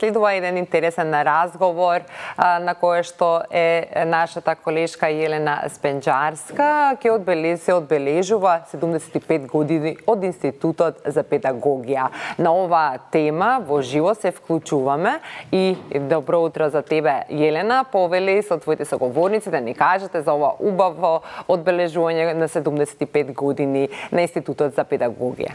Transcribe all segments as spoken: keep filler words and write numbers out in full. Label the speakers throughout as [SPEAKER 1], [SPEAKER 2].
[SPEAKER 1] Следува еден интересен разговор на кој што е нашата колешка Јелена Спенџарска, ќе одбележи се одбележува седумдесет и пет години од Институтот за педагогија. На оваа тема во живо се вклучуваме и добро утро за тебе, Јелена. Повели со твоите соговорници да ни кажете за ова убаво одбележување на седумдесет и пет години на Институтот за педагогија.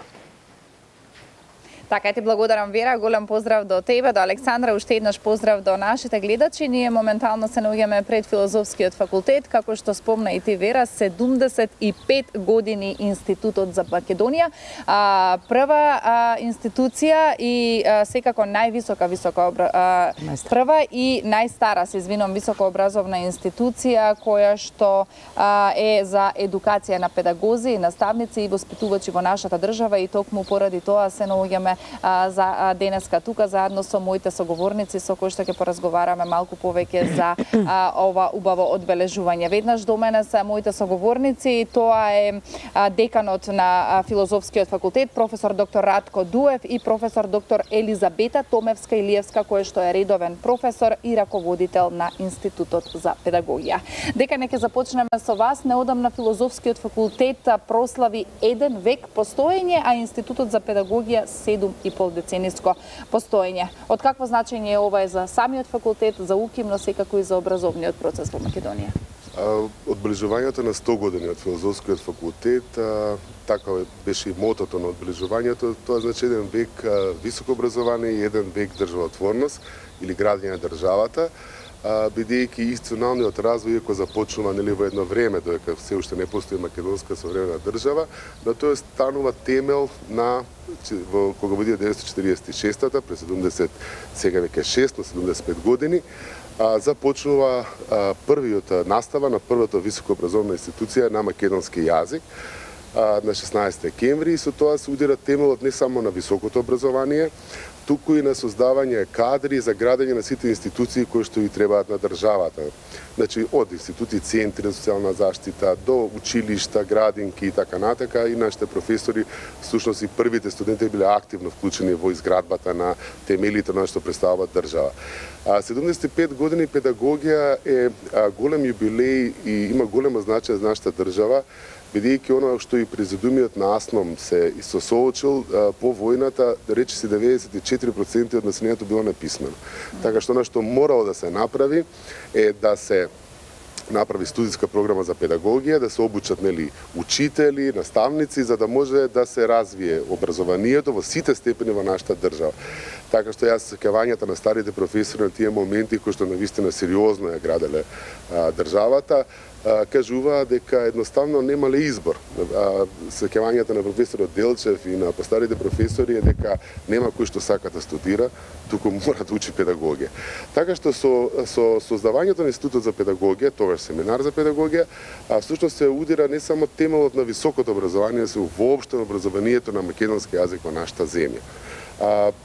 [SPEAKER 2] Така, ти благодарам, Вера. Голем поздрав до тебе, до Александра, уште еднаш поздрав до нашите гледачи. Ние моментално се наоѓаме пред Филозофскиот факултет, како што спомна и ти, Вера, седумдесет и пет години Институтот за Македонија. А, прва а, институција и а, секако највисока висока а, прва и најстара, се извинувам, високообразовна институција која што а, е за едукација на педагози, наставници и воспитувачи во нашата држава, и токму поради тоа се наоѓаме за денеска тука заедно со моите соговорници со кои што ќе поразговараме малку повеќе за а, ова убаво одбележување. Веднаш до мене се моите соговорници, тоа е а, деканот на а, Филозофскиот факултет, професор доктор Радко Дуев и професор доктор Елизабета Томевска-Илиевска, кој што е редовен професор и раководител на Институтот за педагогија. Дека не ќе започнеме со вас, неодамна Филозофскиот факултет прослави еден век постоење, а Институтот за педагогија седум и пол децениско постоење. Од какво значење е ова е за самиот факултет, за УКИМ, но секако и за образовниот процес во Македонија?
[SPEAKER 3] Одбележувањето на сто години од Филозофскиот факултет, така беше и мотото на одбележувањето, тоа значи еден век високо образование и еден век државотворност или градење на државата, бидејќи институционалниот развој кој започнува нели во едно време, додека се уште не постои македонска современа држава, но тоа станува темел на во кога во илјада деветстотини четиридесет и шеста, пред седумдесет, сега веќе шест, на седумдесет и пет години, а, започнува а, првиот настава на првата високообразовна институција на македонски јазик а, на шеснаесети декември, и со тоа се удира темелот не само на високото образование, туку и на создавање кадри за градење на сите институции кои што и требаат на државата. Значи, од институти, центри за социјална заштита, до училишта, градинки и така натака, и нашите професори, всушност и првите студенти биле активно вклучени во изградбата на темелите на што представува држава. седумдесет и пет години педагогија е голем јубилеј и има голема значаја за нашата држава, бидејќи оно што и президумиот на АСНОМ се сосоочил по војната, рече се деветдесет и четири проценти од населението било неписмено. Така што оно што морало да се направи е да се направи студиска програма за педагогија, да се обучат нели учители, наставници, за да може да се развие образованието во сите степени во нашата држава. Така што јас сеќавањата на старите професори на тие моменти кои што навистина сериозно ја граделе а, државата, а, кажуваа дека едноставно немале избор. Сеќавањата на професорот Делчев и на постарите професори е дека нема кој што сака да студира, туку мора да учи педагогија. Така што со, со создавањето на Институтот за педагогија, тогаш семинар за педагогија, а всушност се удира не само темелот на високото образование, се воопшто образованието на македонски јазик во нашата земја.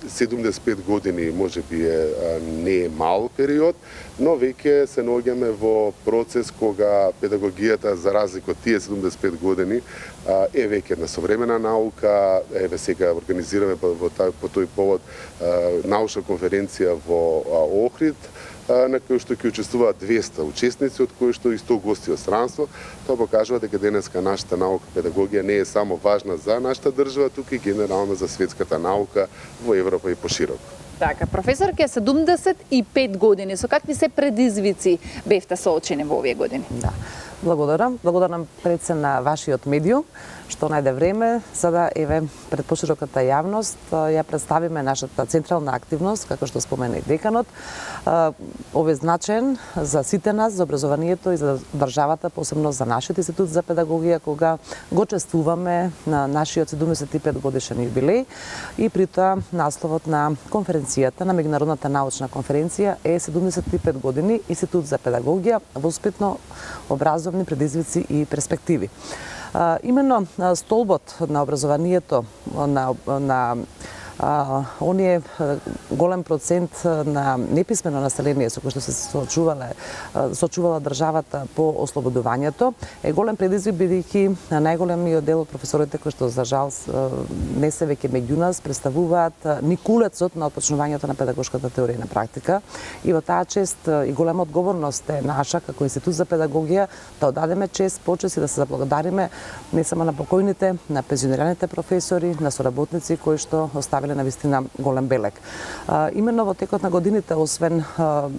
[SPEAKER 3] седумдесет и пет години може би е, не е мал период, но веќе се наоѓаме во процес кога педагогијата, за разлика од тие седумдесет и пет години, е веќе една современа наука. Еве сега организираме по, по тој повод научна конференција во Охрид, на кој што ќе учествуваат двеста учесници, од кои што и сто гости од странство. Тоа покажува дека денеска нашата наука педагогија не е само важна за нашата држава, туку и генерално за светската наука во Европа и пошироко.
[SPEAKER 2] Така, професор, ке седумдесет и пет години, со какви се предизвици бевте соочени во овие години?
[SPEAKER 4] Да. Благодарам. Благодарам пред се на вашиот медиум, што најде време за да еве пред пошироката јавност ја представиме нашата централна активност, како што спомена и деканот. Овој значен за сите нас, за образованието и за државата, посебно за нашиот Институт за педагогија, кога го чествуваме на нашиот седумдесет и пет годишен јубилеј, и при тоа насловот на конференцијата, на меѓународната научна конференција е седумдесет и пет години Институт за педагогија, воспитно образовни предизвици и перспективи. А, именно столбот на образованието, на, на оние голем процент на неписмено население со кој што се соочувале соочувала државата по ослободувањето е голем предизвик, бидејќи најголемиот дел од професорите кои што за жал не се веќе меѓу нас представуваат никулецот на отпочнувањето на педагошката теорија на практика, и во таа чест и голема одговорност е наша како Институт за педагогија да одадеме чест, почест и да се заблагодариме не само на покојните, на пензионираните професори, на соработници кои што оставиле на вистина голем белег. А, именно во текот на годините, освен а,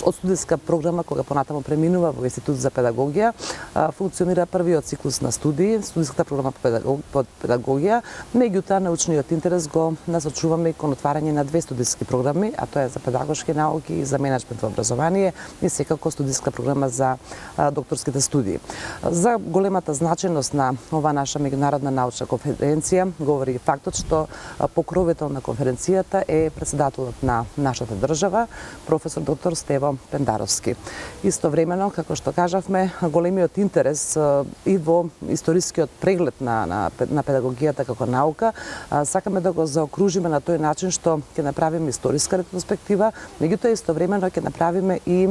[SPEAKER 4] од студиска програма кога понатаму преминува во Институт за педагогија, а, функционира првиот циклус на студии, студиската програма по, педагог, по педагогија, меѓутоа научниот интерес го насочуваме и кон отварање на две студиски програми, а тоа е за педагошки науки и за менеджмент во образование, и секако студиска програма за а, докторските студии. За големата значајност на ова наша меѓународна научна конференција говори фактот што покровител на конференцијата е председателот на нашата држава, професор доктор Стево Пендаровски. Истовремено, како што кажавме, големиот интерес и во историскиот преглед на, на, на педагогијата како наука, сакаме да го заокружиме на тој начин што ќе направиме историска ретроспектива, меѓутоа истовремено ќе направиме и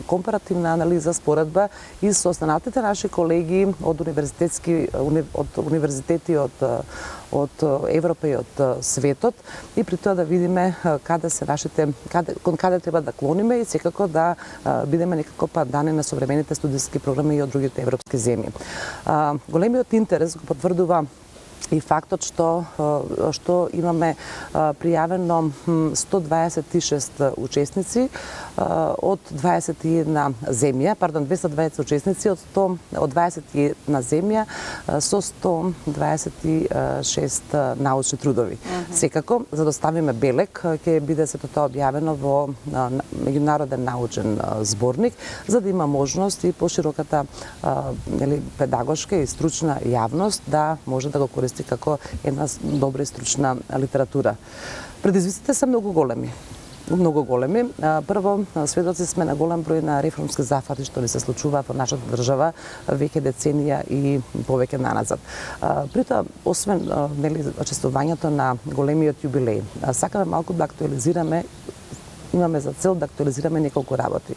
[SPEAKER 4] компаративна анализа, споредба и со останатите наши колеги од универзитетски од универзитети од од Европа и од светот, и при тоа да видиме каде се нашите каде кон каде треба да клониме и секако да бидеме некако падани на современите студиски програми и од другите европски земји. Големиот интерес го потврдува и фактот што што имаме пријавено сто дваесет и шест учесници од дваесет и една земја, пардон, двесте дваесет учесници од сто од дваесет и една земја со сто дваесет и шест научни трудови. Mm -hmm. Секако, за да оставиме белег, ќе биде сето тоа објавено во меѓународен научен зборник, за да има можност и пошироката нели педагошка и стручна јавност да може да го користи како една добра и стручна литература. Предизвиците се многу големи. Многу големи. Прво, сведоци сме на голем број на реформски зафати што ни се случува во нашата држава веќе деценија и повеќе наназад. При тоа, освен нели чествувањето на големиот јубилеј, сакаме малку да актуализираме, имаме за цел да актуализираме неколку работи.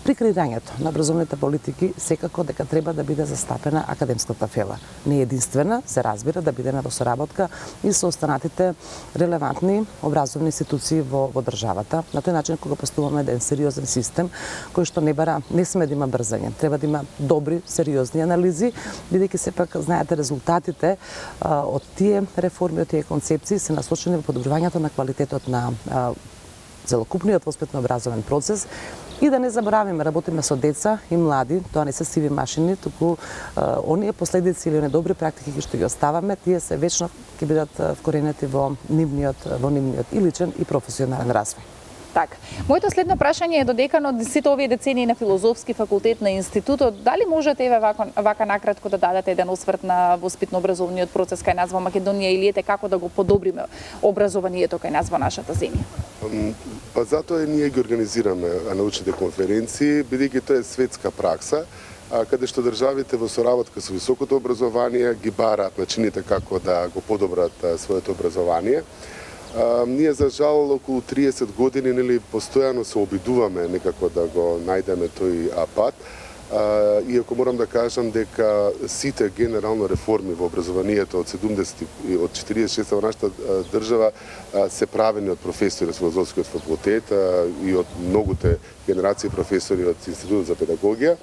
[SPEAKER 4] При креирањето на образовните политики секако дека треба да биде застапена академската фела. Не единствена, се разбира, да биде на соработка и со останатите релевантни образовни институции во, во државата. На тој начин кога постуваме еден сериозен систем кој што не бара, не сме да има брзање, треба да има добри, сериозни анализи, бидејќи сепак знаете резултатите а, од тие реформи, од тие концепции се насочени во подобрувањето на квалитетот на а, целокупниот воспитно образовен процес. И да не заборавиме, работиме со деца и млади, тоа не се сиви машини, туку а, оние последици или недобри практики кои што ги оставаме, тие се вечно ќе бидат вкоренети во нивниот, во нивниот и личен и професионален развој.
[SPEAKER 2] Так. Моето следно прашање е до деканот сите овие децении на Филозофски факултет на институтот, дали можете еве вака, вака накратко да дадете еден осврт на воспитно-образовниот процес кај нас во Македонија или ете како да го подобриме образованието кај нас во нашата земја?
[SPEAKER 3] Па затоа и ние ги организираме научните конференции, бидејќи тоа е светска пракса, каде што државите во соработка со високото образование ги бараат начините како да го подобрат своето образование. Uh, ние за жал околу триесет години нели постојано се обидуваме некако да го најдеме тој пат. Uh, иако морам да кажам дека сите генерално реформи во образованието од седумдесет од четиридесет и шеста во нашата држава uh, се правени од професори од Филозофскиот факултет uh, и од многуте генерации професори од Институтот за педагогија.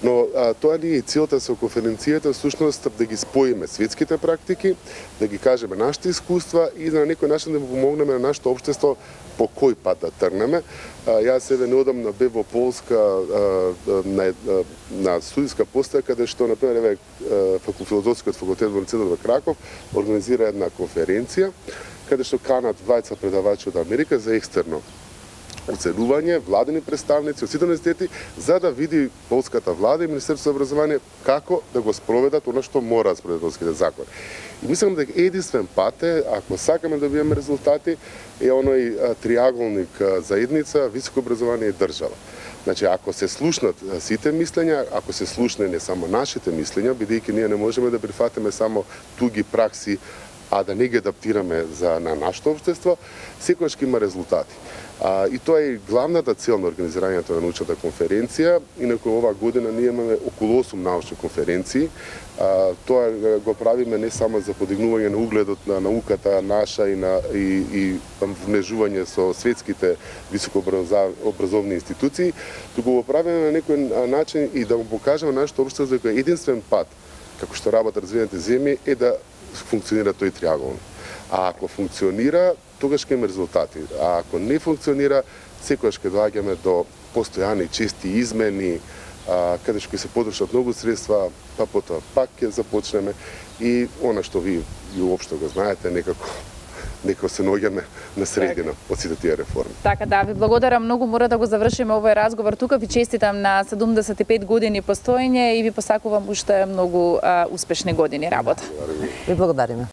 [SPEAKER 3] Но а, тоа ни е целта со конференцијата, всушност да ги споиме светските практики, да ги кажеме нашите искуства и да на некој начин да му помогнеме на нашето општество по кој пат да тргнеме. А, јас еве неодамна бев во Полска а, на, на студиска постоја, каде што, например, еве Филозофскиот факултет во универзитетот во Краков организира една конференција, каде што канат двајца предавачи од Америка за екстерно оценување, владени представници од сите универзитети, за да види полската влада и Министерството за образование како да го спроведат она што мора да спроведат полските закони. И мислам дека единствен пат е, ако сакаме да добиеме резултати, е оној триаголник заедница, високо образование и држава. Значи, ако се слушнат сите мислења, ако се слушне не само нашите мислења, бидејќи ние не можеме да прифатиме само туги пракси а да не ги адаптираме за на нашето општество, секогаш ќе има резултати. А, и тоа е главната цел на организирањето на научната конференција. Инаку оваа година ние имаме околу осум научни конференции. А, тоа го правиме не само за подигнување на угледот на науката наша и на и, и внежување со светските високообразовни институции, туку го правиме на некој начин и да му покажеме нашето општество дека единствен пат како што работат развиените земји е да функционира тој триаголник. А ако функционира, тогаш ќе има резултати. А ако не функционира, секогаш ќе доаѓаме до постојани чести измени, а, каде што ќе се потрошат многу средства, па потоа пак ќе започнеме и она што ви, ви уопшто го знаете, некако некако се наоѓаме на средина од сите тие реформи.
[SPEAKER 2] Така да, ви благодарам многу, мора да го завршиме овој разговор тука. Ви честитам на седумдесет и пет години постоење и ви посакувам уште многу а, успешни години работа.
[SPEAKER 4] Ви благодариме.